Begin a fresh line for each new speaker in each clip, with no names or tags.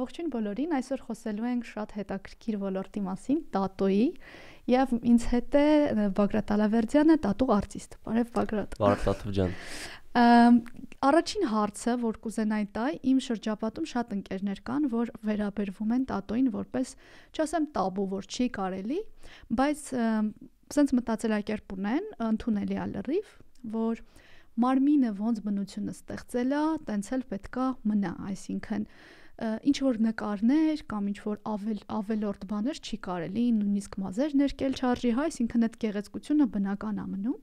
Ողջույն բոլորին, այսօր խոսելու ենք շատ հետաքրքիր ոլորտի մասին, տատոյի, եւ ինձ հետ է Բագրատ Ալավերդյանը, տատու արտիստ։ Բարև Բագրատ։
Բարև Տաթև ջան։
Առաջին հարցը, որ կուզենայի տալ, իմ շրջապատում շատ ընկերներ կան, որ վերաբերվում են տատոյին որպես, չասեմ տաբու, որ չի կարելի, բայց սենց մտածելակերպ ունեն, ընդունելի է լրիվ, որ մարմինը ոնց բնությունը ստեղծել է, տենց էլ պետքա մնա, այսինքն ինչ որ նկարներ կամ ինչ որ ավելորդ բաներ չի կարելի, նույնիսկ մազեր ներկել չարժի, հա, այսինքն այդ գեղեցկությունը բնական է մնում։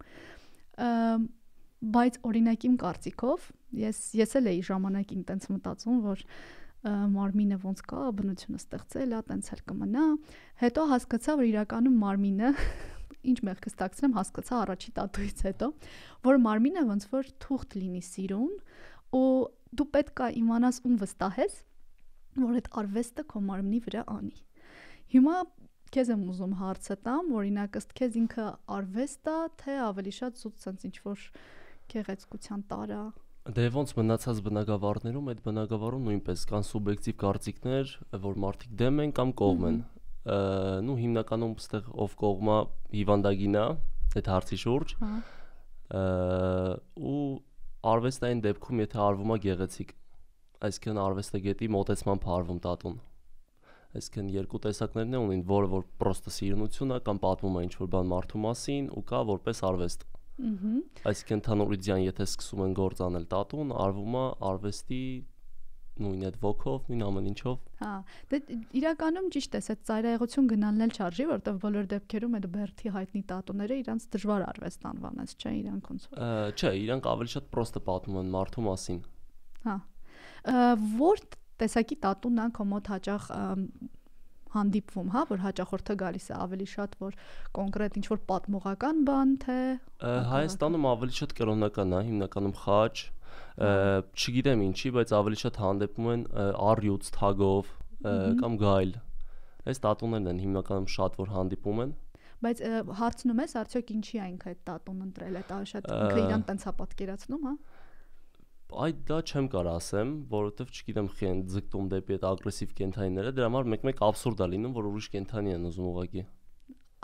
Բայց օրինակ իմ կարծիքով, ես էլ էի ժամանակին տենց մտածում, որ մարմինը ոնց կա, բնությունը ստեղծել է, տենց էլ կմնա, հետո հասկացա, որ իրականում մարմինը ինչ մեղքս տակցնեմ, հասկացա առաջի տատուից հետո, որ մարմինը ոնց որ թուղթ լինի սիրուն, ու դու պետք է իմանաս ում վստահես, որ այդ արվեստը քո մարմնի վրա անի։ Հիմա քեզ եմ ուզում հարցը տամ, օրինակ ըստ քեզ ինքը արվեստ է, թե ավելի շատ զուտ sense ինչ որ գեղեցկության տարա։
Դե ոնց մնացած բնագավառներում, այդ բնագավառում նույնպես կան սուբյեկտիվ կարծիքներ, որ մարդիկ դեմ են կամ կողմ են։ Նու հիմնականում այստեղ ով կողմա հիվանդագինա այդ հարցի շուրջ։ Ու արվեստային դեպքում եթե արվում է գեղեցիկ, այսինքն արվեստագետի մոտեցման փարվում տատուն։ Այսինքն երկու տեսակներն ունին, որը որ պրոստը սիրունություն է կամ պատմում է ինչ-որ բան մարդու մասին ու կա որպես արվեստ։ Այսինքն թանուրիդյան եթե սկսում են գործ անել տատուն, արվում է արվեստի նույն այդ ոգով, նույն ամեն ինչով։
Հա, դե իրականում ճիշտ է, այդ ծայրահեղություն գնալն էլ չարժի, որտեղ բոլոր դեպքերում այդ բերթի հայտնի տատուները իրանց դժվար արվեստ անվանած, չէ, իրանք ոնց որ։
Չէ, իրանք ավելի շատ պրոստը պատմում են մարդու մասին։
Հա։ Որ տեսակի տատուն է քո մոտ հաճախ հանդիպվում, հա, որ հաճախորդը գալիս է ավելի շատ որ կոնկրետ ինչ որ պատմողական բան, թե
Հայաստանում ավելի շատ կրոնական է, հիմնականում խաչ, չգիտեմ ինչի, բայց ավելի շատ հանդիպում են առյուծ թագով կամ գայլ։ Այս տատուներն են հիմնականում շատ որ հանդիպում են։
Բայց հարցնում ես, արդյոք ինչի է ինքը այդ տատուն ընտրել, այդ շատ ինքը իրան տենց է պատկերացնում, հա։
Այդ դա չեմ կարող ասեմ, որովհետև չգիտեմ խի են ձգտում դեպի այդ ագրեսիվ կենթանիները, դրա համար մեկ-մեկ աբսուրդ է լինում, որ ուրիշ կենթանի են ուզում ուղղակի։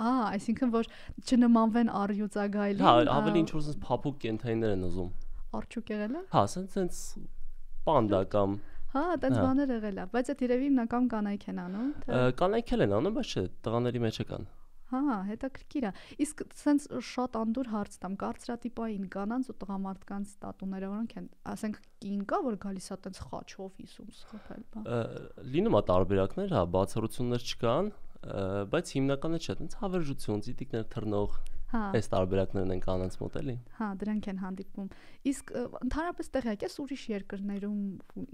Այսինքն որ չնմանվեն առյուծագայլին։
Հա, ավելի ինչ որ sense փափուկ կենթանիներ են ուզում։
Արջուկ եղել է։
Հա, sense պանդա կամ
Հա, տենց բաներ եղել է, բայց այդ երևի հիմնական կանայք են անում, թե
կանայք են անում, բայց չէ, տղաների մեջ կան։
Հա, հետաքրքիր է։ Իսկ sense շատ անդուր հարց տամ, կարծրատիպային կանանց ու տղամարդկանց տատուները որոնք են, ասենք կին կա, որ գալիս է տենց խաչով իսում սխոփել, բա։
Լինում է տարբերակներ, հա, բացառություններ չկան, բայց հիմնականը չէ, տենց հավերժություն, ծիտիկներ թռնող, այս տարբերակներն են կանանց մոտ էլի։
Հա, դրանք են հանդիպում։ Իսկ ընդհանրապես տեղյակ ես ուրիշ երկրներում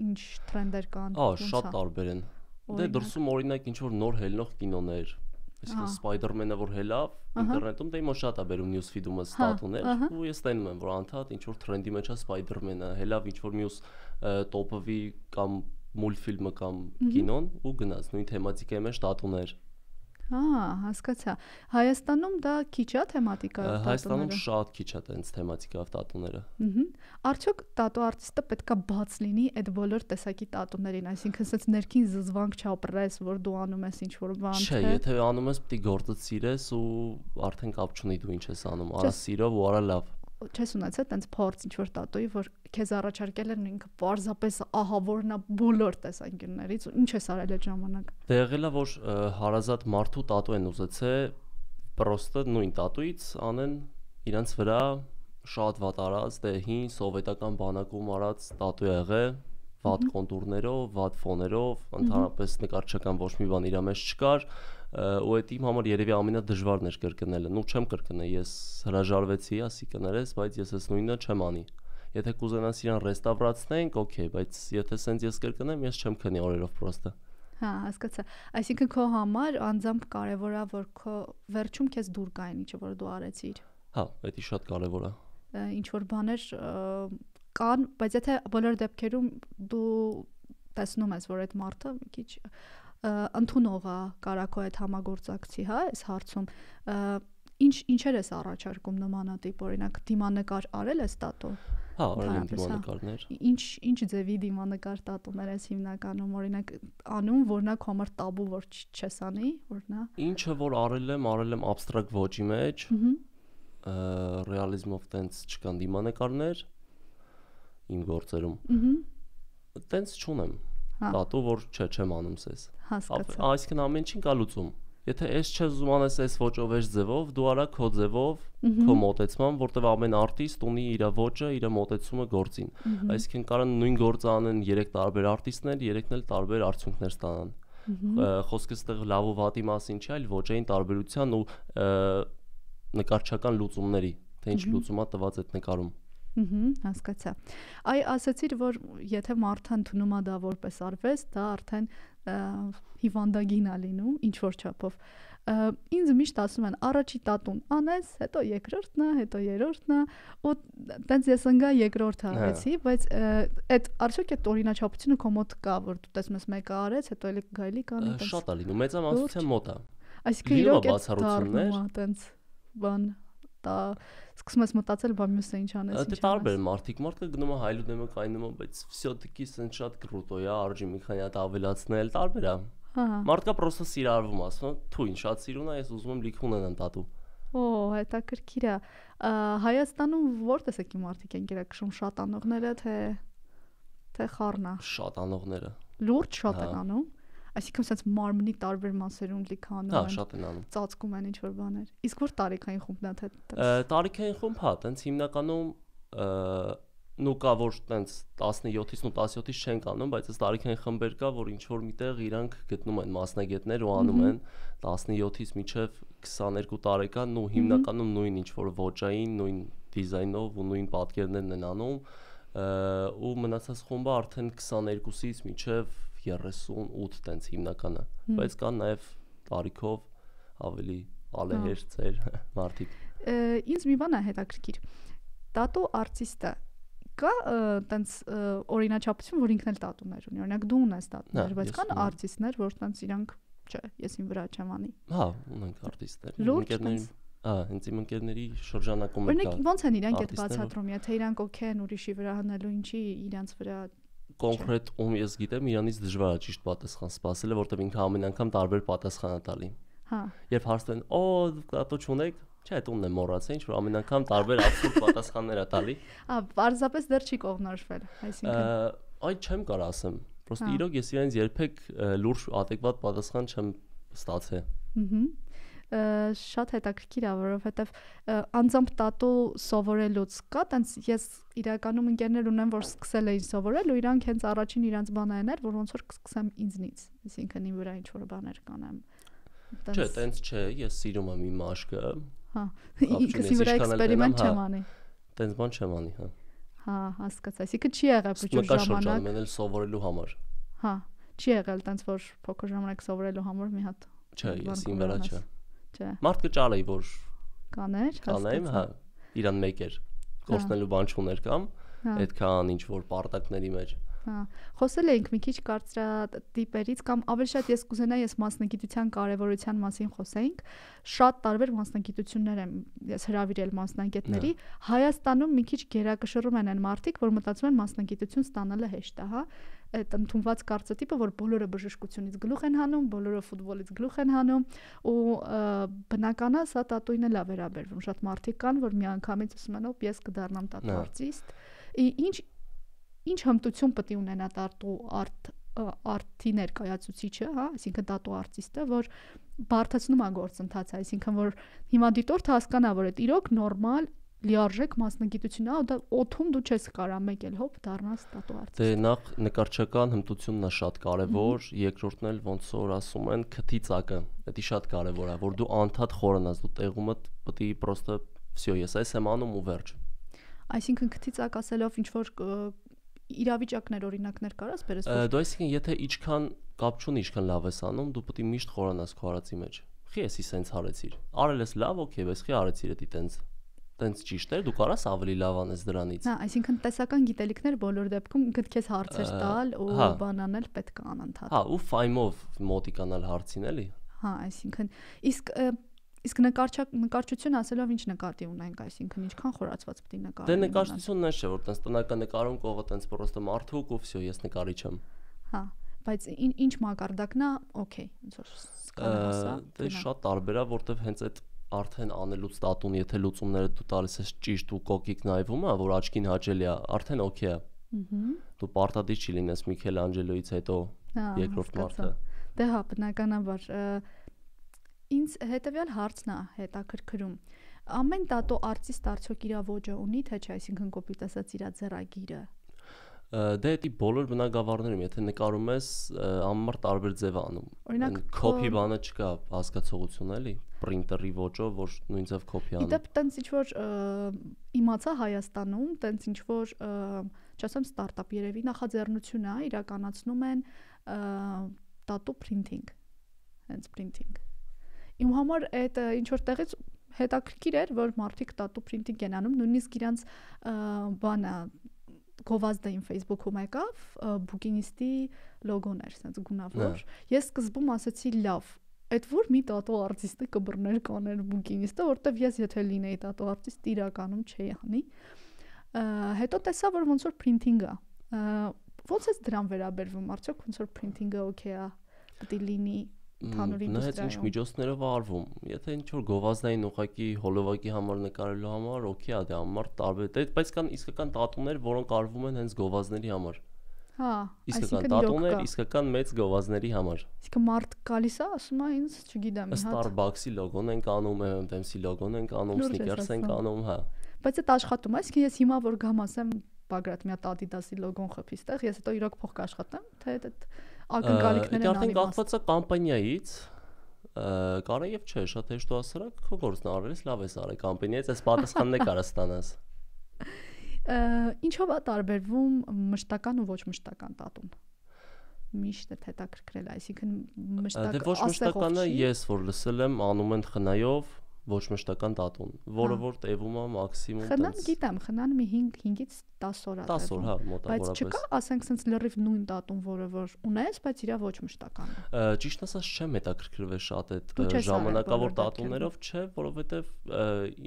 ինչ թրենդեր կան։
Շատ տարբեր են։ Դե դրսում օրինակ ինչ որ նոր հելնող կինոներ Այսինքն Spider-Man-ը որ հելավ ինտերնետում դե իմը շատ է բերում news feed-ումը ստատուներ ու ես տենում եմ որ անդադ ինչ որ թրենդի մեջ է Spider-Man-ը հելավ ինչ որ մյուս տոպովի կամ մուլտֆիլմը կամ կինոն ու գնաց նույն թեմատիկայի մեջ տատուներ։
Հասկացա։ Հայաստանում դա քիչ է թեմատիկայով տատուները։
Հայաստանում շատ քիչ է տենց թեմատիկայով տատուները։
Արդյոք տատու արտիստը պետքա բաց լինի այդ բոլոր տեսակի տատուներին, այսինքն sense ներքին զզվանք չապրես, որ դու անում ես ինչ որ բան,
չէ։ Չէ, եթե անում ես պիտի գործը սիրես ու արդեն կապ չունի դու ինչ ես անում, արա սիրով ու արա լավ։
Չես ունեցել տենց փորձ ինչ որ տատուի, որ քեզ առաջարկել են ինքը պարզապես ահավորն է բոլոր տեսանկյուններից, ինչ ես արել այդ ժամանակ։
Դե եղել է որ հարազատ մարդու տատու են ուզեցել, պրոստը նույն տատուից անեն իրանց վրա շատ վատ արած, դե հին սովետական բանակում արած տատու եղել, վատ կոնտուրներով, վատ ֆոներով, ընդհանրապես նկարչական ոչ մի բան իր մեջ չկար, ու այդ իմ համար երևի ամենադժվարն էր կրկնելը։ Նու չեմ կրկնել, ես հրաժարվեցի, ասի կներես, բայց ես այս նույնը չեմ անի։ Եթե կուզենաս իրան ռեստավրացնենք, օքեյ, բայց եթե սենց ես կրկնեմ, ես չեմ քնի օրերով պրոստը։
Հա, հասկացա։ Այսինքն քո համար անձամբ կարևոր է, որ քո վերջում քեզ դուր գա այն ինչը որ դու արեցիր։
Հա, դա շատ կարևոր է։
Ինչ որ բաներ կան, բայց եթե բոլոր դեպքերում դու տեսնում ես, որ այդ մարդը մի քիչ ընդունող է, կարա քո այդ համագործակցի, հա, այս հարցում ինչեր ես առաջարկում նմանատիպ, օրինակ դիմանկար արել ես տատու։
Հա, արել եմ դիմանկարներ։
Ինչ ձևի դիմանկար տատուներ ես հիմնականում օրինակ անում, որ նա քո համար տաբու որ չես անի, որ նա։
Ինչը որ արել եմ abstract ոճի մեջ, ռեալիզմով տենց չկան դիմանկարներ իմ գործերում։ Տենց չունեմ։ Տատու որ չեմ անում սես։
Հասկացա։
Այսինքն ամեն ինչին կա լուծում։ Եթե ես չես ուզում անես այս ոճով, այս ձևով, դու արա քո ձևով, քո մոտեցման, որտեղ ամեն արտիստ ունի իր ոճը, իր մոտեցումը գործին։ Այսինքն կարան նույն գործը անեն 3 տարբեր արտիստներ, 3-ն էլ տարբեր արդյունքներ ստանան։ Խոսքը այստեղ լավ ու վատի մասին չի, այլ ոճային տարբերության ու նկարչական լուծումների, թե ինչ լուծումա տված այդ նկարում։
Հասկացա։ Այ ասացիր, որ եթե մարդը ընդունում է դա որպես արվեստ, դա արդեն հիվանդագին է լինում, ինչ որ չափով։ Ինձ միշտ ասում են, առաջի տատուն անես, հետո երկրորդն է, հետո երրորդն է, ու տենց ես ընկա երկրորդը արեցի, բայց այդ արդյոք այդ օրինաչափությունը քո մոտ կա, որ դու տեսնում ես մեկը արեց, հետո էլի գայլի կանի, տենց։
Շատ է լինում, մեծամասնության մոտ է։
Այսինքն իրոք է դառնում է տենց բան դա սկսում ես մտածել, բա մյուսը ինչ անես, ինչ անես։
Դա տարբեր մարդը գնում է հայլուդում է կայնում է, բայց всё-таки սենց շատ կրուտո է, արժի մի քանի հատ ավելացնել, տարբեր է։ Մարդկա պրոստը սիրարվում ասում, թույն շատ սիրուն է, ես ուզում եմ լիք ունենան տատու։
Օ, հետաքրքիր է։ Հայաստանում որտես եկի մարդիկ են գերակշռում, շատ անողները, թե խառնա։
Շատ անողները։
Լուրջ շատ են անում։ Այսինքն sense մարմնի տարբեր մասերում լիքը անում են։
Հա, շատ են անում։
Ծածկում են ինչ որ բաներ։ Իսկ որ տարիքային խումբն է թե։
Տարիքային խումբ, հա, տենց հիմնականում նու կա որ տենց 17-ից ու 17-ից չեն անում, բայց այս տարիքային խմբեր կա, որ ինչ որ միտեղ իրանք գտնում են մասնագետներ ու անում են 17-ից մինչև 22 տարեկան ու հիմնականում նույն ինչ որ ոճային, նույն դիզայնով ու նույն պատկերներն են անում ու մնացած խումբը արդեն 22-ից մինչև 38 տենց հիմնականը, բայց կան նաև տարիքով ավելի ալեհեր ծեր մարդիկ։
Ինձ մի բան է հետաքրքիր։ Տատու արտիստը կա տենց օրինաչափություն, որ ինքն էլ տատուներ ունի։ Օրինակ դու ունես տատուներ, բայց կան արտիստներ, որ տենց իրանք, չէ, ես իմ վրա չեմ անի։
Հա, ունենք արտիստներ։ Ընկերներ, հենց իմ ընկերների շրջանակում
կա։ Օրինակ ո՞նց են իրանք այդ բացատրում, եթե իրանք օքեյ են ուրիշի վրա հնելու, ինչի իրանց վրա
կոնկրետ ում ես գիտեմ, իրանից դժվար է ճիշտ պատասխան սպասելը, որտեղ ինքը ամեն անգամ տարբեր պատասխան է տալի։
Հա։
Երբ հարցնում են, «Օ, տատու չունեք», չէ, այդ ումն է մոռացել, ինչ որ ամեն անգամ տարբեր абսուրդ պատասխաններ է տալի։
Պարզապես դեռ չի կողմնորոշվել, այսինքն։
Այ չեմ կարող ասեմ։ Պրոստը իրոք ես իրենց երբեք լուրջ adekvat պատասխան չեմ ստացել։
Շատ հետաքրքիր է, որովհետև անձամբ տատու սովորելուց կա, տենց ես իրականում ընկերներ ունեմ, որ սկսել էին սովորել ու իրանք հենց առաջին իրանց բանային էր, որ ոնց որ կսկսեմ ինձնից, այսինքն իմ վրա ինչ որ բաներ կանեմ։
Չէ, տենց չէ, ես սիրում եմ իմ աշկը։
Հա, ինքսի վրա էքսպերիմենտ չեմ անի։
Տենց բան չեմ անի, հա։
Հա, հասկացա, այսինքն չի եղել փոքր ժամանակ։
Մենել սովորելու համար։
Հա, չի եղել տենց որ փոքր ժամանակ սովորելու համար մի հատ։
Չէ, ես իմ վրա չէ։
Չէ։
Մարդ կճարեի, որ
կաներ,
կանեմ, հա, իրան մեկ էր, գործնելու բան չուներ կամ այդքան ինչ որ պարտակների մեջ։
Հա, խոսել էինք մի քիչ կարծրատիպերից կամ ավելի շատ ես կուզենայի ես մասնագիտության կարևորության մասին խոսեինք։ Շատ տարբեր մասնագիտություններ եմ ես հրավիրել մասնագետների։ Հայաստանում մի քիչ գերակշռում են մարդիկ, որ մտածում են մասնագիտություն ստանալը հեշտ է, հա։ Այդ ընդունված կարծրատիպը, որ բոլորը բժշկությունից գլուխ են հանում, բոլորը ֆուտբոլից գլուխ են հանում ու բնական է սա տատուին էլ է վերաբերվում։ Շատ մարդիկ կան, որ միանգամից ասում են, «Օ, ես կդառնամ տատու արտիստ»։ Ինչ հմտություն պետք է ունենա տատու արտի ներկայացուցիչը, հա, այսինքն տատու արտիստը, որ բարդացնում է գործընթացը, այսինքն որ հիմա դիտորդը հասկանա, որ այդ իրոք նորմալ լիարժեք մասնագիտություն է, դա օթում դու չես կարա մեկ էլ հոп դառնաս տատու արտիստ։
Դե նախ նկարչական հմտությունն է շատ կարևոր, երկրորդն էլ ոնց որ ասում են քթի ծակը, դա շատ կարևոր է, որ դու անդադ խորանաս, դու տեղումը պետք է պրոստը всё, ես այս եմ անում ու վերջ։
Այսինքն քթի ծակ ասելով ինչ որ իրավիճակներ օրինակներ կարաս բերես։
Դու այսինքն եթե ինչքան կապ չունի, ինչքան լավ ես անում, դու պետք է միշտ խորանաս քո արածի մեջ։ Խի էսի սենց արեցիր։ Արել ես լավ, օքեյ, բայց խի արեցիր դա տենց ճիշտ էր, դու կարաս ավելի լավ անես դրանից։
Հա, այսինքն տեսական գիտելիքներ բոլոր դեպքում գտքես հարցեր տալ ու բանանել պետք է անընդհատ։
Հա, ու ֆայմով մոտիկանալ հարցին էլի։
Հա, այսինքն իսկ Իսկ նկարչություն ասելով ինչ նկատի ունենք, այսինքն ինչքան խորացված պետք է նկարել։
Դե նկարչությունն է, որ տես տնական նկարում կողը տես պրոստը մարդուկ ու վсё, ես նկարիչ եմ։
Հա, բայց ինչ մակարդակն է, օքեյ, ոնց որ սկալա հասա։
Դե շատ տարբեր է, որտեվ հենց այդ արդեն անելուց տատուն, եթե լուծումները դու տալիս ես ճիշտ ու կոկիկ նայվում է, որ աչքին հաճելի է, արդեն օքեյ է։ Դու պարտադիր չի լինես Միքելանջելոից հետո երկրորդ մարդը։
Դե հա, բնականաբար ինձ հետեւյալ հարցն է հետաքրքրում։ Ամեն տատո արտիստ արդյոք իր ոճը ունի, թե չէ, այսինքն կոպիտ ասած իր ձեռագիրը։
Դե դի բոլոր բնագավառներում, եթե նկարում ես, ամառ տարբեր ձև անում։ Օրինակ կոպի բանը չկա, հասկացողություն էլի, պրինտերի ոճով, որ նույն ձև կոպի անում։
Իդեպ տենց ինչ որ իմացա Հայաստանում, տենց ինչ որ չասեմ ստարտափ երևի նախաձեռնություն է, իրականացնում են տատու printing, հենց printing։ Իմ համար այդ ինչ որ տեղից հետաքրքիր էր, որ մարդիկ տատու printing են անում, նույնիսկ իրանց բանը գովազդային Facebook-ում եկավ, բուկինիստի լոգոն էր, ասենց գունավոր։ Ես սկզբում ասացի լավ, այդ որ մի տատու արտիստը կբռներ կաներ բուկինիստը, որտեվ ես եթե լինեի տատու արտիստ իրականում չէի անի։ Հետո տեսա, որ ոնց որ printing-ը, ոնց է դրան վերաբերվում, արդյոք ոնց որ printing-ը օքեյ է, պետք է լինի ընդհանուր ինդուստրիայում։
Ինչ միջոցներով արվում։ Եթե ինչ որ գովազդային ուղակի հոլովակի համար նկարելու համար, օքեյ է, դա ամառ տարբեր, բայց կան իսկական տատուներ, որոնք արվում են հենց գովազդների համար։
Հա,
իսկական տատուներ, իսկական մեծ գովազդների համար։
Իսկ մարդ գալիս է, ասում է ինձ, չգիտեմ,
Starbucks-ի լոգոն են կանում, M&M's-ի լոգոն են կանում, Snickers են կանում, հա։
Բայց այդ աշխատում է, իսկ ես հիմա որ գամ ասեմ Բագրատ մի հատ Adidas-ի լոգոն խփի ստեղ, ես հետո իրոք փող կաշխատեմ, թե այդ ակնկալիքներն
են անի։ Դա կախված է կամպանիայից, կարա եւ չէ, շատ հեշտոհասարակ քո գործն արես, լավ ես արել կամպանիայից, այս պատասխանն է կարա ստանաս։
Ինչով է տարբերվում մշտական ու ոչ մշտական տատուն։ Միշտ հետաքրքրել, այսինքն մշտական
դե ոչ մշտականը ես որ լսել եմ անում են խնայով ոչ մշտական տատուն, որը որ տևում է մաքսիմում
Խնան գիտեմ, խնան մի 5-ից 10 օր է
10 օր, հա, մոտավորապես։
Բայց չկա, ասենք sense լրիվ նույն տատուն, որը որ ունես, բայց իրա ոչ մշտական է։
Ճիշտ ասած չեմ հետաքրքրվել շատ այդ ժամանակավոր տատուներով, չէ, որովհետև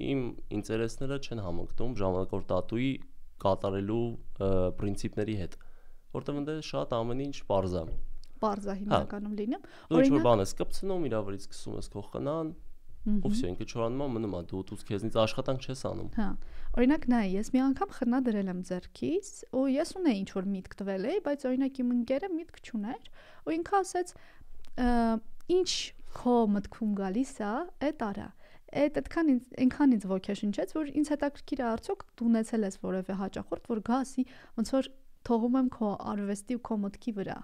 իմ ինտերեսները չեն համընկնում ժամանակավոր տատուի կատարելու պրինցիպների հետ, որտեղ ընդ շատ ամեն ինչ པարզ է։
པարզ է հիմնականում լինում։
Դու ինչ որ բան ես կպցնում, իրա վրից սկսում ես քո խնան, ու վсё, ինքը չորանում է, մնում է, դու քեզնից աշխատանք չես անում։
Հա։ Օրինակ նայ, ես մի անգամ խնա դրել եմ ձեռքից, ու ես ունեի ինչ որ միտք տվել էի, բայց օրինակ իմ ընկերը միտք չուներ, ու ինքը ասեց, ինչ քո մտքում գալիս է, այդ արա։ Այդքան ինքան ինձ ոգեշնչեց, որ ինձ հետաքրքիր է արդյոք դու ունեցել ես որևէ հաճախորդ, որ գա ասի, ոնց որ թողում եմ քո արվեստի ու քո մտքի վրա։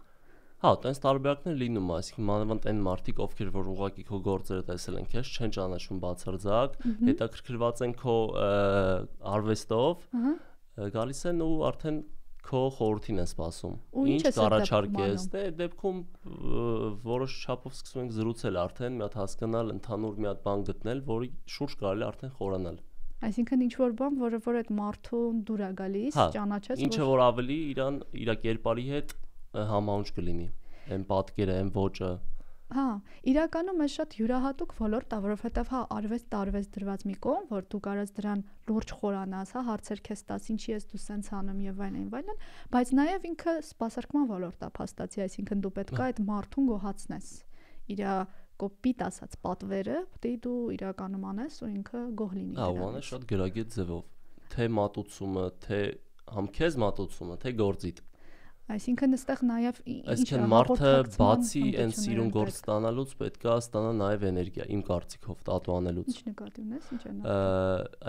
Հա, տենց տարբերակներ լինում է, այսինքն մանավանդ այն մարդիկ, ովքեր որ ուղղակի քո գործերը տեսել են, քեզ չեն ճանաչում բացարձակ, հետաքրքրված են քո արվեստով, գալիս են ու արդեն քո խորհրդին են սպասում։ Ինչ կառաջարկես, դե դեպքում որոշ չափով սկսում ենք զրուցել արդեն, մի հատ հասկանալ, ընդհանուր մի հատ բան գտնել, որի շուրջ կարելի արդեն խորանալ։
Այսինքն ինչ որ բան, որը որ այդ մարդուն դուր է գալիս, ճանաչես,
ինչը որ ավելի իր կերպարի հետ համահունչ կլինի, այն պատկերը, այն ոճը։
Հա, իրականում է շատ յուրահատուկ ոլորտ է, որովհետև հա արվեստ դրված մի կողմ, որ դու կարաս դրան լուրջ խորանաս, հա, հարցեր քեզ տաս, ինչի ես դու սենց անում եւ այլն, բայց նաեւ ինքը սպասարկման ոլորտ է փաստացի, այսինքն դու պետք է այդ մարդուն գոհացնես։ Իր կոպիտ ասած պատվերը, պետք է դու իրականում անես ու ինքը գոհ լինի։
Հա, ու անես շատ գրագետ ձևով, թե մատուցումը, թե համ քեզ մատուցումը, թե գործիդ։
Այսինքն այստեղ նաև
այսինքն մարդը բացի այն սիրուն գործ ստանալուց պետքա ստանա նաև էներգիա, իմ կարծիքով, տատու անելուց։
Ինչ նկատի ունես, ինչ է նա։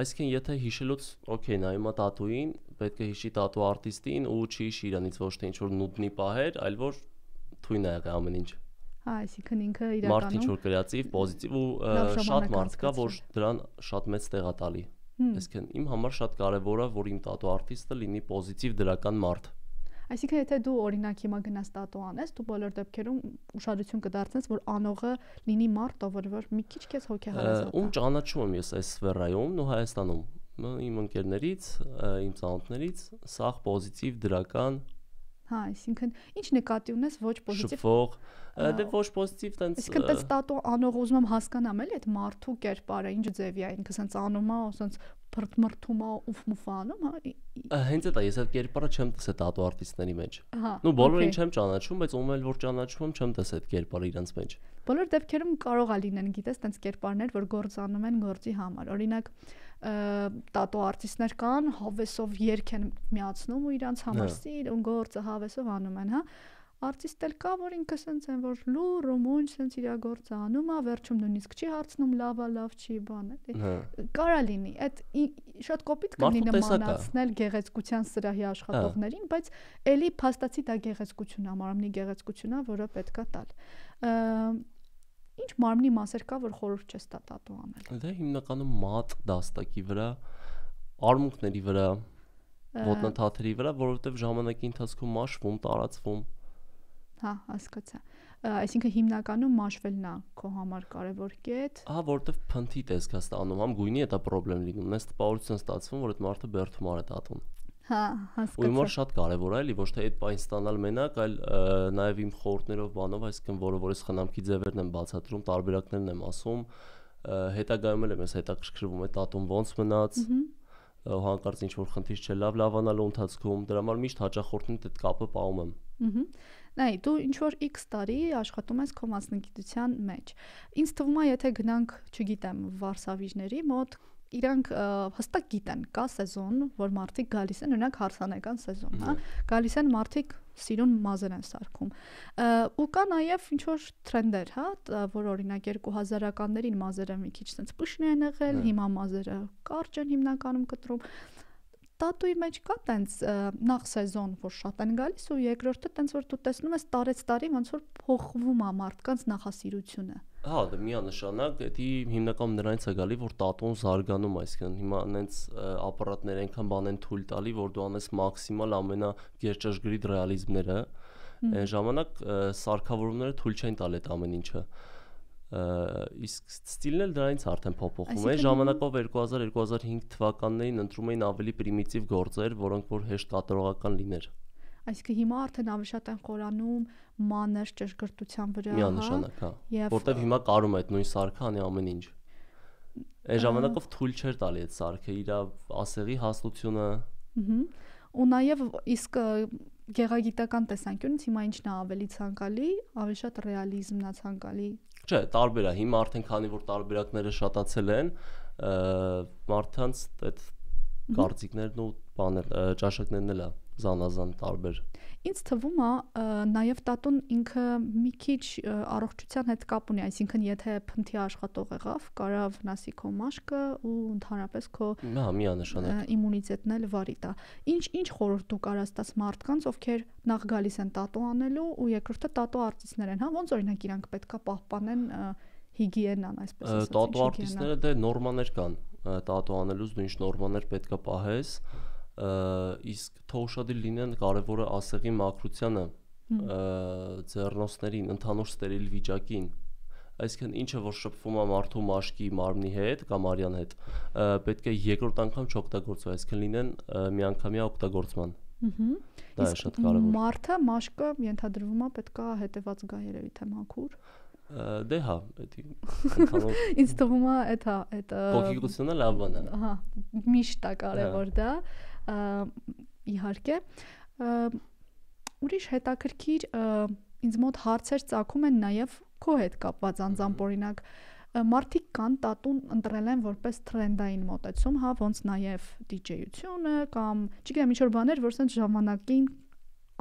Այսինքն եթե հիշելուց, օքեյ, նայում է տատուին, պետք է հիշի տատու արտիստին ու չի հիշի իրանից ոչ թե ինչ որ նուտնի պահեր, այլ որ թույն է եղել ամեն ինչ։
Հա, այսինքն ինքը իրականում
մարդ ինչ որ կրեատիվ, պոզիտիվ ու շատ մարդ կա, որ դրան շատ մեծ տեղ է տալի։ Այսինքն իմ համար շատ կարևոր է, որ իմ տատու արտիստը լինի պոզիտիվ դրական մարդ։
Այսինքն եթե դու օրինակ հիմա գնաս տատու անես, դու բոլոր դեպքերում ուշադրություն կդարձնես, որ անողը լինի մարդ, ով որ մի քիչ քեզ հոգեհարազատ է։
Ում ճանաչում եմ ես այս սֆերայում ու Հայաստանում, իմ ընկերներից, իմ ծանոթներից, սաղ պոզիտիվ դրական
Հա, այսինքն ինչ նկատի ունես ոչ պոզիտիվ։
Շփվող, դե ոչ պոզիտիվ տենց։
Այսինքն տես տատու անող ուզում եմ հասկանամ էլի այդ մարդու կերպարը, ինչ ձևի է, ինքը սենց անում է, սենց մրթում է, ուֆ անում, հա։
Հենց այդ է, ես այդ կերպարը չեմ տեսել տատու արտիստների մեջ։
Հա։
Նու բոլորին չեմ ճանաչում, բայց ում էլ որ ճանաչում եմ, չեմ տեսել այդ կերպարը իրանց մեջ։
Բոլոր դեպքերում կարող է լինեն, գիտես, տենց կերպարներ, որ գործանում են գործի համար։ Օրինակ, տատու արտիստներ կան, հավեսով երգ են միացնում ու իրանց համար սիր ու գործը հավեսով անում են, հա։ Արտիստ էլ կա, որ ինքը սենց են, որ լուր ու մունջ սենց իր գործը անում է, վերջում նույնիսկ չի հարցնում լավ է, լավ չի, բան է։ Կարա լինի, այդ շատ կոպիտ կլինի նմանացնել գեղեցկության սրահի աշխատողներին, բայց էլի փաստացի դա գեղեցկություն է, մարմնի գեղեցկություն է, որը պետքա տալ։ Ինչ մարմնի մասեր կա, որ խորհուրդ չես տա տատու անել։
Դե հիմնականում մատ դաստակի վրա, արմունկների վրա, ոտնաթաթերի վրա, որովհետև ժամանակի ընթացքում մաշվում, տարածվում։
Հա, հասկացա։ Այսինքն հիմնականում մաշվելն է քո համար կարևոր կետ։
Ահա, որովհետև փնթի տեսք է ստանում, համ գույնի է դա խնդրեմ լինում, նես տպավորություն ստացվում, որ այդ մարդը բերդում արի տատուն։
Հա, հասկացա։
Ու հիմա շատ կարևոր է, էլի ոչ թե այդ բան ստանալ մենակ, այլ նաև իմ խորհուրդներով բանով, այսինքն որը ես խնամքի ձևերն եմ բացատրում, տարբերակներն եմ ասում, հետագայում էլ եմ ես հետաքրքրվում այդ տատուն ոնց մնաց, հանկարծ ինչ որ խնդիր չէ լավանալու ընթացքում, դրա համար միշտ հաճախորդին այդ կապը պահում եմ։
Նայ, դու ինչ որ X տարի աշխատում ես քո մասնագիտության մեջ։ Ինձ թվում է, եթե գնանք, չգիտեմ, վարսավիժների մոտ, իրանք հստակ գիտեն, կա սեզոն, որ մարդիկ գալիս են, օրինակ հարսանեկան սեզոն, հա, գալիս են մարդիկ սիրուն մազեր են սարքում։ Ու կա նաև ինչ որ տրենդեր, հա, որ օրինակ 2000-ականներին մազերը մի քիչ sense պշնի են եղել, հիմա մազերը կարճ են հիմնականում կտրում։ Տատուի մեջ կա տենց նախ սեզոն, որ շատ են գալիս ու երկրորդը տենց որ դու տեսնում ես տարի ոնց որ փոխվում է մարդկանց նախասիրությունը։
Հա, դա միանշանակ, դա հիմնականում նրանից է գալի, որ տատուն զարգանում, այսինքն հիմա այնց ապարատներ այնքան բան են թույլ տալի, որ դու անես մաքսիմալ ամենագերճաշգրիտ ռեալիզմները, այն ժամանակ սարքավորումները թույլ չեն տալ այդ ամեն ինչը։ Իսկ ստիլն էլ դրանից արդեն փոփոխում է։ Ժամանակով 2000-2005 թվականներին ընտրում էին ավելի պրիմիտիվ գործեր, որոնք որ հեշտ կատարողական լիներ։
Այսինքն հիմա արդեն ավելի շատ են խորանում մանր ճշգրտության վրա, հա։
Միանշանակ, հա։ Որտեվ հիմա կարում է այդ նույն սարքը անի ամեն ինչ։ Այն ժամանակով թույլ չէր տալի այդ սարքը, իր ասեղի հաստությունը։
Ու նաև իսկ գեղագիտական տեսանկյունից հիմա ինչն է ավելի ցանկալի, ավելի շատ ռեալիզմն է ցանկալի։
Չէ, տարբեր է, հիմա արդեն քանի որ տարբերակները շատացել են, մարդկանց այդ կարծիքներն ու ճաշակներն էլ է զանազան տարբեր։
Ինձ թվում է նաև տատուն ինքը մի քիչ առողջության հետ կապ ունի, այսինքն եթե փնթի աշխատող եղավ, կարա վնասի քո մաշկը ու ընդհանրապես քո իմունիտետն էլ վարի տա։ Ինչ խորհուրդ դու կարաս տաս մարդկանց, ովքեր նախ գալիս են տատու անելու ու երկրորդը տատու արտիստներ են, հա, ոնց օրինակ իրանք պետքա պահպանեն հիգիենան, այսպես ասած։
Տատու արտիստները դե նորմաներ կան, տատու անելուց դու ինչ նորմաներ պետքա պահես։ Իսկ թող ուշադիր լինեն կարևորը ասեղի մաքրությանը, ձեռնոցներին, ընդհանուր ստերիլ վիճակին, այսինքն ինչը որ շփվում է մարդու մաշկի մարմնի հետ կամ արյան հետ, պետք է երկրորդ անգամ չօգտագործվի, այսինքն լինեն միանգամյա օգտագործման։ Դա է շատ կարևոր։
Մարդը մաշկը ենթադրվում է պետքա հետևած գա երևի թե մաքուր։
Դե հա, ընդհանուր
ինձ թվում է այդ
փոքրիկությունը լավ բան է։
Հա, միշտ է կարևոր դա։ Իհարկե, ուրիշ հետաքրքիր ինձ մոտ հարցեր ծագում են նաև քո հետ կապված անձամբ օրինակ մարդիկ կան տատուն ընտրել են որպես տրենդային մոտեցում, հա, ոնց նաև DJ-ությունը կամ չգիտեմ ինչ որ բաներ, որ սենց ժամանակին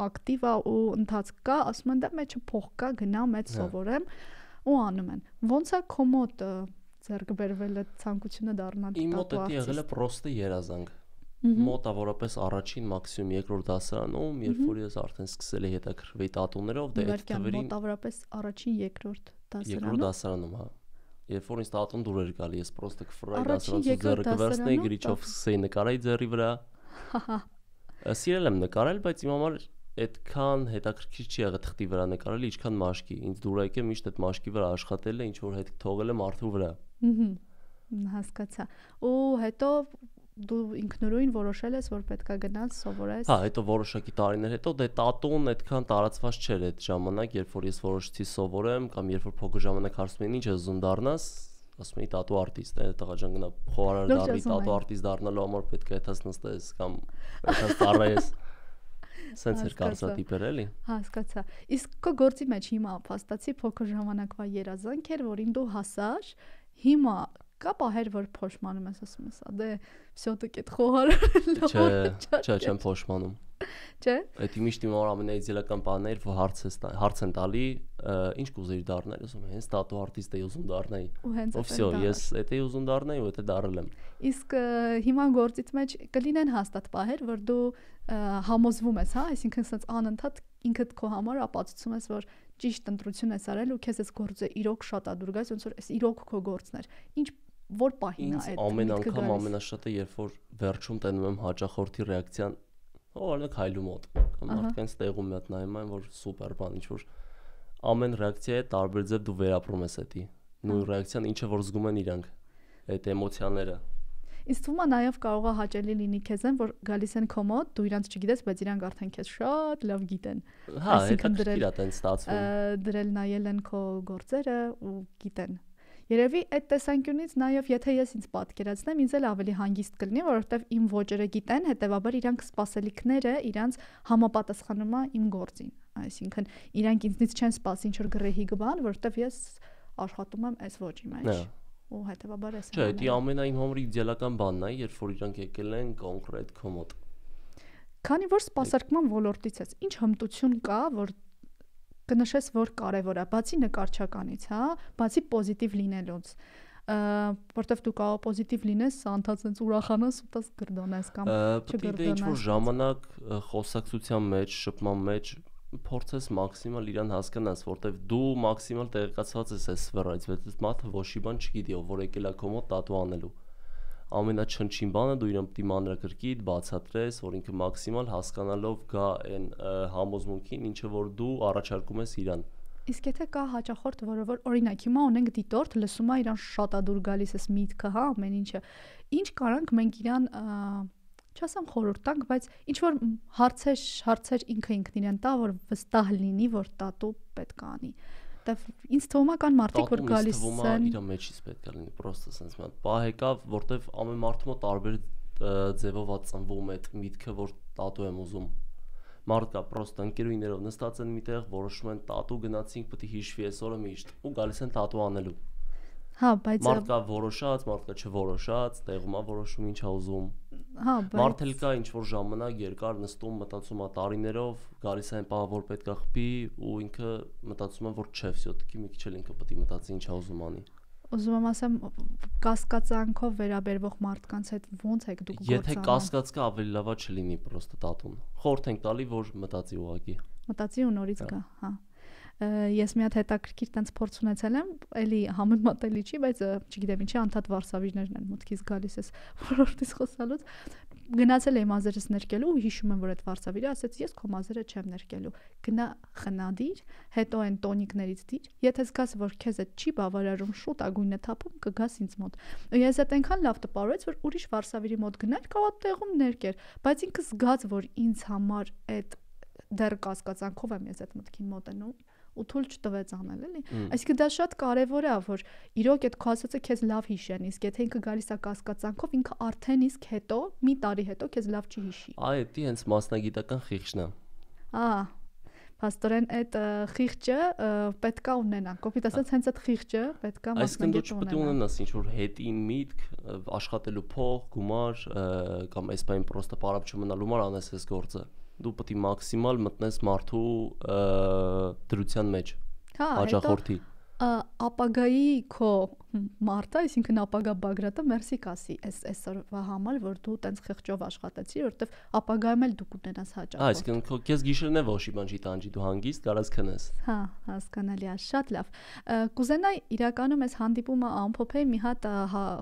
ակտիվ է ու ընթացք կա, ասում են դա մեջը փող կա, գնամ, այդ սովորեմ ու անում են։ Ոնց է քո մոտ ձեռք բերվել այդ ցանկությունը դառնալ
տատու արտիստ։ Իմ մոտ դա եղել է պրոստը երազանք։ Մոտավորապես առաջին մաքսիմում երկրորդ դասարանում, երբ որ ես արդեն սկսել էի հետաքրքրվել տատուներով, դե այդ թվերին
մոտավորապես առաջին երկրորդ դասարանում։
Երկրորդ դասարանում, հա։ Երբ որ ինձ տատուն դուր էր գալի, ես պրոստը կֆրայի դասարանցու ձեռը կվերցնեի, գրիչով սկսեի նկարել ձեռի վրա։ Սիրել եմ նկարել, բայց իմ համար այդքան հետաքրքիր չի եղել թղթի վրա նկարել, ինչքան մաշկի։ Ինձ դուր եկել միշտ այդ մաշկի վրա աշխատել է, ինչ որ հետ թողել է մարդու վրա։
Հասկացա։ Ու հետո դու ինքնուրույն որոշել ես, որ պետքա գնաս սովորես։
Հա, հետո որոշակի տարիներ հետո դե տատուն այդքան տարածված չէր այդ ժամանակ, երբ որ ես որոշեցի սովորեմ, կամ երբ որ փոքր ժամանակ հարցնում էին ինչ ես ուզում դառնաս, ասում էի տատու արտիստ, տղա ջան գնա խոհարար դառնի, տատու արտիստ դառնալու համար պետք է այդպես նստես կամ այդպես ծառայես։ Սենց էր կարծրատիպեր էլի։
Հասկացա։ Իսկ քո գործի մեջ հիմա փաստացի փոքր ժամանակվա երազանք էր, որին դու հասար, հիմա կա պահեր, որ փոշմանում ես, ասում ես, դե всё-таки այդ խոհարարը
Չէ, չեմ փոշմանում։
Չէ։
Այդ միշտ իմ ամենաիդեալական բանն էր, որ հարց են տալի, ինչ կուզեիր դառնալ, ասում եմ, հենց տատու արտիստ էի ուզում դառնայի։ Ու всё, ես էդ էի ուզում դառնայի ու էդ դառել եմ։
Իսկ հիմա գործից մեջ կլինեն հաստատ պահեր, որ դու համոզվում ես, հա, այսինքն ասած անընդհատ ինքդ քո համար ապացուցում ես, որ ճիշտ ընտրություն ես արել ու քեզ այս գործը իրոք շատ ա դուր գալիս, ոնց որ այս իրոք քո գործն էր։ Ինչ որ պահին է այդ։
Ամեն անգամ ամենաշատը, երբ որ վերջում տենում եմ հաճախորդի ռեակցիան, օրինակ հայլու մոտ, կամ մարդկանց տեղում մի հատ նայում եմ, որ սուպեր բան, ինչ որ ամեն ռեակցիա է տարբեր ձև դու վերապրում ես էդի։ Նույն ռեակցիան ինչը որ զգում են իրանք, այդ էմոցիաները։
Իսկ թվում է նաև կարող է հաճելի լինի քեզ են, որ գալիս են քո մոտ, դու իրանց չգիտես, բայց իրանք արդեն քեզ շատ լավ գիտեն։
Հա, հետաքրքիր է տենց ստացվում։
Դրել նայել են քո գործերը ու գիտեն։ Երևի այդ տեսանկյունից նաև եթե ես ինձ պատկերացնեմ, ինձ էլ ավելի հանգիստ կլինի, որովհետև իմ ոճերը գիտեն, հետեւաբար իրանք սպասելիքները իրանց համապատասխանում է իմ գործին։ Այսինքն իրանք ինձնից չեն սպասի ինչ որ գրեհի բան, որովհետև ես աշխատում եմ այս ոճի մեջ։ Ու հետեւաբար էս։
Չէ, դա ամենայն համար իդեալական բանն է, երբ որ իրանք եկել են կոնկրետ քո մոտ։
Քանի որ սպասարկման ոլորտից ես, ինչ հմտություն կա, որ կնշես, որ կարևոր է, բացի նկարչականից, հա, բացի պոզիտիվ լինելուց, որտեվ դու կարող պոզիտիվ լինես, անդացնես ուրախանաս ու տես գրդոնես կամ
չգրդոնես։ Պետք է ինչ-որ ժամանակ խոսակցության մեջ, շփման մեջ փորձես մաքսիմալ իրան հասկանաս, որտեվ դու մաքսիմալ տեղեկացված ես այս սֆերայից, բայց մարդը ոչի բան չգիտի, ով որ եկել է քո մոտ տատու անելու։ Ամենաչնչին բանը դու իրան պիտի մանրակրկիտ բացատրես, որ ինքը մաքսիմալ հասկանալով գա այն համոզմունքին, ինչը որ դու առաջարկում ես իրան։
Իսկ եթե կա հաճախորդ, որը որ օրինակ հիմա ունենք դիտորդ, լսում է իրան շատ ադուր գալիս էս միտքը, հա, ամեն ինչը։ Ինչ կարանք մենք իրան չասեմ խորհուրդ տանք, բայց ինչ որ հարցեր ինքը ինքն իրեն տա, որ վստահ լինի, որ տատու պետք է անի։ Ինձ թվում է կան մարդիկ, որ գալիս են
իր մեջից պետք է լինի, պրոստը sense մի հատ պահ եկավ, որտեվ ամեն մարդու մոտ տարբեր ձևով է ծնվում այդ միտքը, որ տատու եմ ուզում։ Մարդ կա պրոստը ընկերուներով նստած են միտեղ, որոշում են տատու գնացինք, պետք է հիշվի այս օրը միշտ ու գալիս են տատու անելու։
Հա, բայց
մարդ կա որոշած, մարդ կա չորոշած, տեղում է որոշում ինչ է ուզում։
Հա, բայց
մարդ էլ կա ինչ որ ժամանակ երկար նստում մտածում է տարիներով, գալիս է այն պահ, որ պետք է խփի ու ինքը մտածում է, որ չէ, всё-таки մի քիչ էլ ինքը պետք է մտածի ինչ է ուզում անի։
Ուզում եմ ասեմ, կասկածանքով վերաբերվող մարդկանց հետ ոնց եք դուք գործանում։
Եթե կասկած կա, ավելի լավա չլինի պրոստը տատուն։ Խորհուրդ ենք տալի, որ մտածի ուղակի։
Մտածի ու նորից գա, հա։ Ես մի հատ հետաքրքիր տենց փորձ ունեցել եմ, էլի համեմատելի չի, բայց չգիտեմ ինչի անդադ վարսավիժներն են մտքից գալիս էս ոլորտից խոսալուց։ Գնացել եմ մազերս ներկելու ու հիշում եմ, որ այդ վարսավիրը ասեց, ես քո մազերը չեմ ներկելու։ Գնա խնադիր, հետո այն տոնիկներից դիր, եթե զգաս, որ քեզ այդ չի բավարարում, շուտ ագույնը թափում, կգաս ինձ մոտ։ Ես այդ այնքան լավ տպավորեց, որ ուրիշ վարսավիրի մոտ գնալ կարող տեղում ներկեր, բայց ինքը զգաց, որ ինձ համար այդ դեռ կասկածանքով եմ ես այդ մտքին մոտենում ու թույլ չտվեց անել էլի։ Այսինքն դա շատ կարևոր է, որ իրոք այդ քո ասածը քեզ լավ հիշեն, իսկ եթե ինքը գալիս է կասկածանքով, ինքը արդեն իսկ հետո մի տարի հետո քեզ լավ չի հիշի։
Այ դա հենց մասնագիտական խիղճն է։
Փաստորեն այդ խիղճը պետքա ունենա։ Կոպիտ ասած հենց այդ խիղճը պետքա մասնագետ ունենա։
Այսինքն դու պետք է ունենաս ինչ-որ հետին միտք, աշխատելու փող, գումար կամ այսպես պրոստը պարապ չմնալու համար անես այս գործը։ Դու պետք է մաքսիմալ մտնես մարդու դրության մեջ։
Հա,
հաճախորդի
ապագայի քո մարդը, այսինքն ապագա Բագրատը մերսի կասի այսօրվա համար, որ դու տենց խղճով աշխատեցի, որովհետև ապագայում էլ դու կունենաս հաճախորդ։
Այսինքն քո քեզ գիշերն է ոչի բան չի տանջի, դու հանգիստ կարաս քնես։
Հա, հասկանալի է, շատ լավ։ Կուզենայի իրականում այս հանդիպումը ամփոփեի մի հատ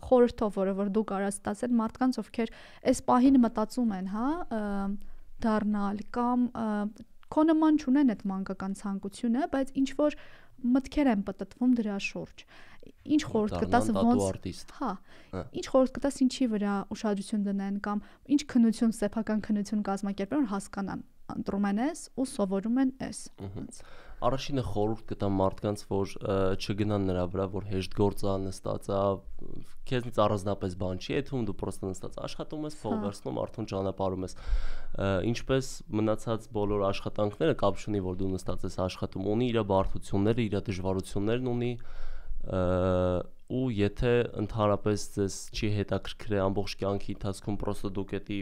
խորհրդով, որը որ դու կարաս տասել մարդկանց, ովքեր այս պահին մտածում են, հա, դառնալ կամ քո նման չունեն այդ մանկական ցանկությունը, բայց ինչ որ մտքեր են պատտվում դրա շուրջ։ Ինչ խորհուրդ կտաս ոնց, հա, ինչ խորհուրդ կտաս ինչի վրա ուշադրություն դնեն կամ ինչ քննություն, սեփական քննություն կազմակերպեն, որ հասկանան, ընտրում են էս ու սովորում են էս։
Առաջինը խորհուրդ կտամ մարդկանց, որ չգնան նրա վրա, որ հեշտ գործ է, նստած է, քեզնից առանձնապես բան չի եթում, դու պրոստը նստած աշխատում ես, փող վերցնում, արդեն ճանապարհում ես։ Ինչպես մնացած բոլոր աշխատանքները, կապ չունի, որ դու նստած ես աշխատում, ունի իր բարդությունները, իր դժվարություններն ունի, ու եթե ընդհանրապես ձեզ չի հետաքրքրել ամբողջ կյանքի ընթացքում պրոստը դուք էդի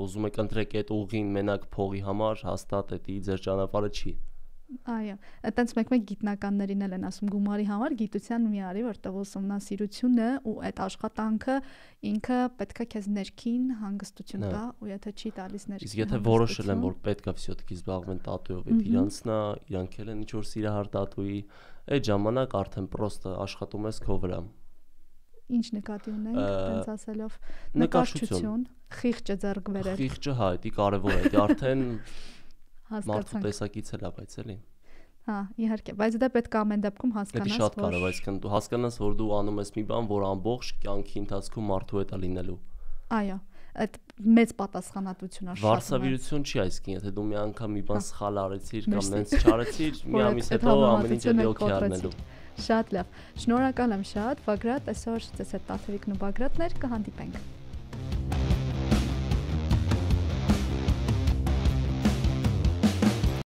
ուզում եք ընտրեք այդ ուղին մենակ փողի համար, հաստատ էդի ձեր ճանապարհը չի։
Այո, այտենց մեկ գիտնականներին էլ են ասում գումարի համար գիտության մի արի, որտեղ ուսումնասիրությունը ու այդ աշխատանքը ինքը պետքա քեզ ներքին հանգստություն տա, ու եթե չի տալիս ներքին։
Իսկ եթե որոշել են, որ պետքա վсё-таки զբաղվեն տատուով, այդ իրանցնա, իրանք էլ են ինչ որ սիրահար տատուի, այդ ժամանակ արդեն պրոստը աշխատում ես քո վրա։
Ինչ նկատի ունենք, տենց ասելով, նկարչություն, խիղճը ձեռք բերել։
Խիղճը հա, դա կարևոր է, դա արդեն մարդու տեսակից էլ է, բայց էլի։
Հա, իհարկե, բայց դա պետք է ամեն դեպքում հասկանաս,
որ շատ կարևոր է, այսինքն դու հասկանաս, որ դու անում ես մի բան, որ ամբողջ կյանքի ընթացքում մարդու հետ է լինելու։
Այո, այդ մեծ պատասխանատվություն է շատ։
Վարսավիրություն չի, այսինքն, եթե դու մի անգամ մի բան սխալ արեցիր կամ նենց չարեցիր, մի ամիս հետո ամեն ինչ էլի օքեյ առնելու։
Շատ լավ։ Շնորհակալ եմ շատ, Բագրատ, այսօր ձեզ հետ Տաթևիկն ու Բագրատներ կհանդիպենք։